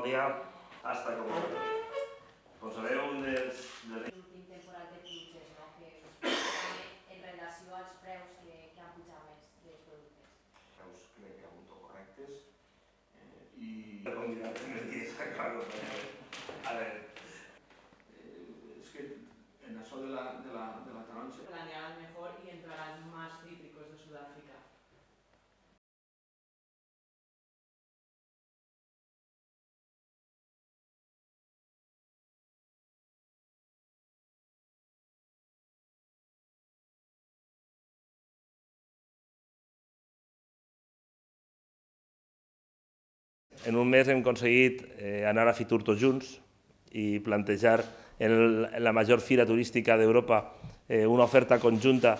Clàudia, hasta como sabeu, un dels... L'últim temporal de pluges, que en relació als preus que han pujat més dels productes. Preus crec que ha hagut correctes i... A ver, es que en això de la taronja... Planearán mejor y entrarán más cítricos de Sudáfrica. en un mes hem aconseguit anar a Fitur tots junts i plantejar en la major fira turística d'Europa una oferta conjunta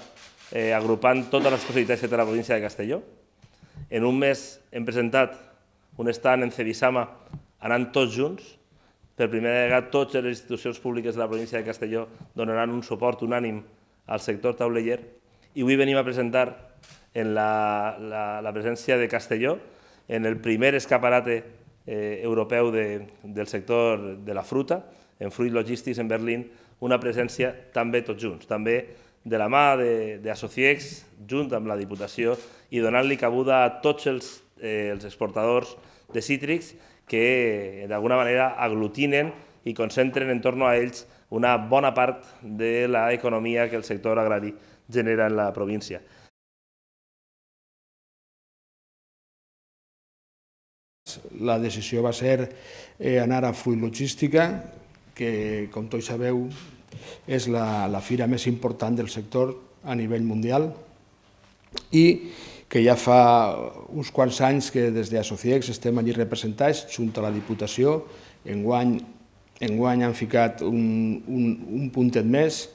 agrupant totes les possibilitats que té la província de Castelló. En un mes hem presentat un stand en Cebisama anant tots junts. Per primera vegada totes les institucions públiques de la província de Castelló donaran un suport unànim al sector tauleller i avui venim a presentar en la presència de Castelló en el primer escaparate europeu del sector de la fruta, en Fruit Logistics en Berlín, una presència també tots junts, també de la mà d'Associex, junt amb la Diputació, i donant-li cabuda a tots els exportadors de cítrics que d'alguna manera aglutinen i concentren en torn a ells una bona part de l'economia que el sector agrari genera en la província. La decisió va ser anar a Fruit Logística, que, com tots sabeu, és la fira més important del sector a nivell mundial i que ja fa uns quants anys que des d'Associex estem allí representats junt a la Diputació. Enguany han ficat un puntet més